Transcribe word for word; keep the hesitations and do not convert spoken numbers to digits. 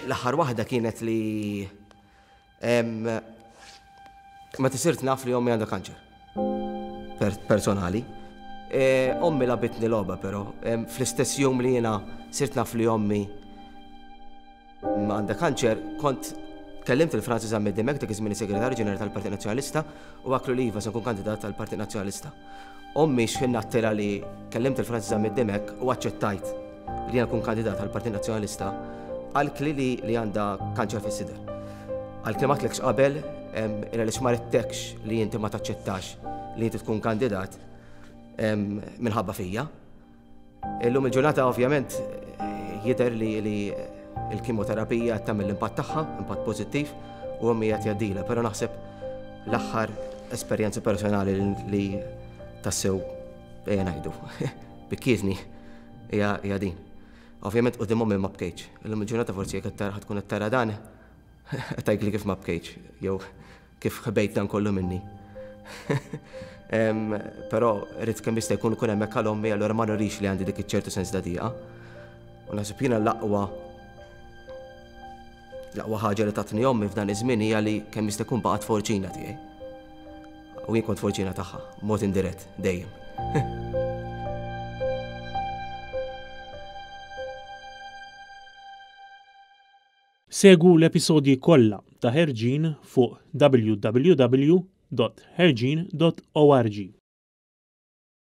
L-aħħar waħda kienet li meta sirt naf li ommi għandha kanċer. Personali. E, ommi lagħbitni logħba però, fl-istess jum li jiena sirt naf li ommi għandha kanċer, kont kellimt il-Francis Zammit Dimech, dak iż-żmien segretarju ġenerali tal-Partit Nazzjonalista, u għedtlu li iva se nkun kandidat tal-Partit Nazzjonalista. Ommi x'ħin għedtilha li kellimt il-Francis Zammit Dimech u aċċettajt li jien nkun kandidat tal-Partit Nazzjonalista, qaltli li li għandha kanċer fis-sider. Qaltli ma għedtlekx qabel, għaliex ma ridtekx li inti ma taċċettax li inti tkun kandidat minħabba fija. Illum il-ġurnata ovvjament jidher li li il-kimoterapija tagħmel l-impatt tagħha, impatt pożittiv, u ommi qed jgħaddilha, però naħseb l-aħħar esperjenza personali li tassew ejja ngħidu bikkietni hija din. Ovvjament quddiem ommi ma bkejtx. Illum il-ġurnata forsi jekk qed tkun qed tara dan, tgħidli kif ma bkejtx, jew kif ħbejt dan kollu minni. Però rrid kemm jista' jkun ikun hemmhekk għal ommi, allura ma nurix li għandi dik iċ-ċertu sens ta' diqa. U naħseb jiena l-aqwa l-aqwa ħaġa li tatni ommi f'dan iż-żmien hija li kemm jista' jkun baqgħet forċina tiegħi. U jien kont forċina tagħha, mod indirett, dejjem. Segwu l-episodji kollha ta' Ħerġin fuq W W W dot ħerġin dot org.